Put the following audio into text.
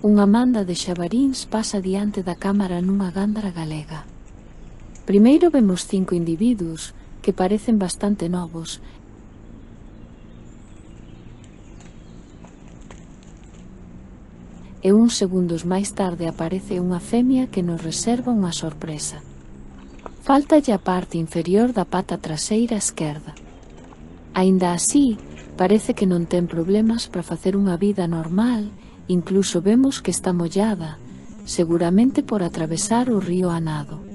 Unha manda de xabaríns pasa diante da cámara nunha gándara galega. Primeiro vemos 5 individuos que parecen bastante novos e uns segundos máis tarde aparece unha femia que nos reserva unha sorpresa. Fáltalle a parte inferior da pata traseira esquerda. Aínda así, parece que non ten problemas para facer unha vida normal, incluso vemos que está mollada, seguramente por atravesar o río a nado.